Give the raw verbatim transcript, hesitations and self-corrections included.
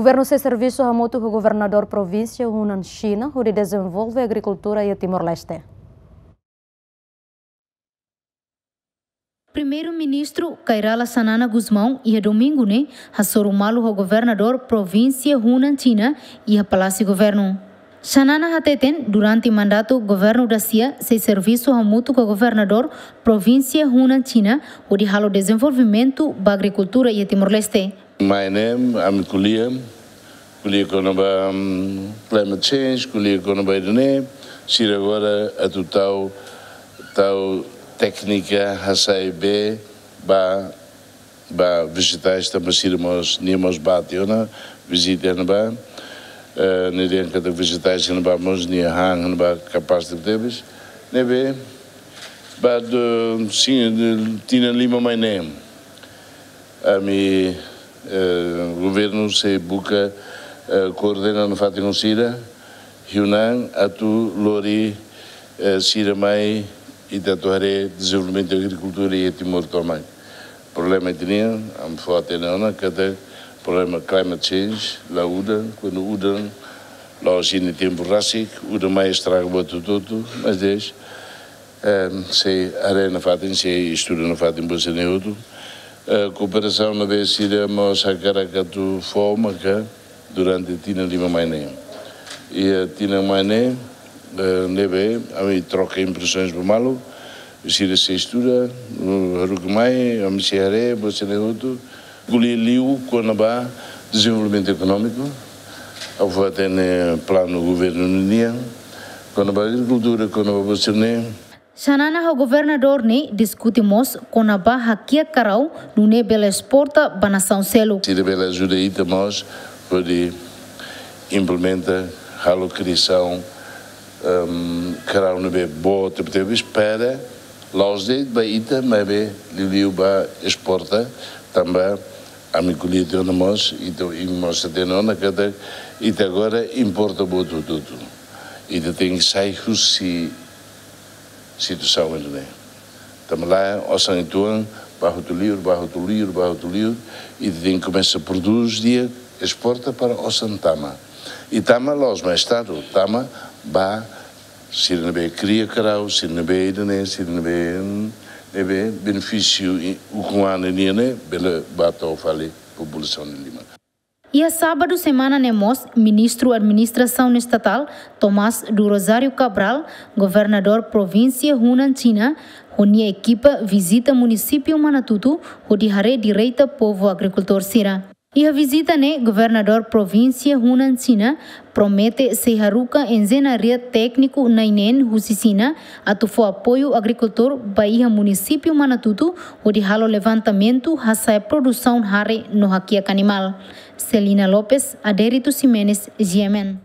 Governu sei servisu hamutuk ho Governadór Provínsia Hunan, Xina, hodi dezenvolve agrikultura iha Timor-Leste. Primeiru-Ministru Kay Rala Xanana Gusmão iha domingu ne'e hasoru malu ho Governadór Provínsia Hunan, Xina, iha Palásiu Governu. Xanana hateten, durante mandatu governu dasia sei servisu hamutuk ho Governadór Provínsia Hunan, Xina, hodi halo dezenvolvimentu ba agrikultura iha Timor-Leste. Mai ne'e, ami ko'alia, ko'alia kona-ba, mm, climate change, ko'alia kona-ba ida-ne'e, sira agora atu tau, tau téknika hasai bee ba, ba vejetais tanba sira mós, nia mós bá tiha ona, vizita ona ba, eh, ne'e dehan katak vejetais ona ba mós, nia han ona ba kapás tebetebes, ne'ebé, ba do, sin, tinan lima mai ne'e. Ami, eh, governu sei buka, eh, koordena nafatin ho sira, Hunan atu lori, eh, sira mai ita atu haree dezenvolvimentu agrikultura iha Timor tomak. Problema ida-ne'e, ami fó-hatene ona, katak problema climate change, la udan, kuandu udan, la'ós iha tempu rasik, udan mai estraga buat hotu-hotu, mas depois, eh, sei haree nafatin, sei estuda nafatin buat sira-ne'e hotu. Eh, kooperasaun ne'ebé sira mós hakarak atu fó maka durante tinan lima mai ne'e. Iha tinan mai ne'e, eh, ne'ebé, ami troka impresoens ba malu, sira sei estuda, uh, haruka mai, ami sei haree, buat sira-ne'e hotu. Ko'alia liu kona-ba dezenvolvimentu ekonómiku, ha'u fó-hatene planu governu nian, kona-ba agrikultura, kona-ba buat sira-ne'e. Xanana ho governadór ne'e diskute mós kona-ba hakiak karau nune'e bele esporta ba nasaun seluk. Sira bele ajuda ita mós hodi implementa, halo kriasaun, ehm, karau ne'ebé boot tebetebes para la'ós de'it ba ita, maibé liuliu ba esporta, tanba ami ko'alia tiha ona mós, ita, imi mós hatene ona katak ita agora importa buat hotu-hotu. Ita tenke sai husi situasaun ida-ne'e. Tanba lae, osan uitoan, bá hotu liur, bá hotu liur, bá hotu liur, ita tenke komesa prodús di'ak, esporta para osan tama. I tama la'ós mai Estadu, tama ba sira ne'ebé kria karau, sira ne'ebé ida-ne'e, sira ne'ebé, hmm, ne'ebé benefísiu i ukun-an nian ne'e, bele bá to'o fali populasaun nia liman. Iha sábadu semana ne'e mós, Ministru Administrasaun Estatál, Tomás do Rosário Cabral, Governadór Provínsia Hunan, Xina, ho nia ekipa vizita munisípiu Manatutu, hodi haree direta povu agrikultór sira. Iha vizita ne'e, Governadór Provínsia Hunan, Xina, promete sei haruka enjeñaria tékniku na'in neen husi Xina, atu fó apoiu agrikultór ba iha munisípiu Manatutu, hodi halo levantamentu, hasa'e produsaun hare no hakiak animál. Celina Lopes, Adérito Ximenes, G M N.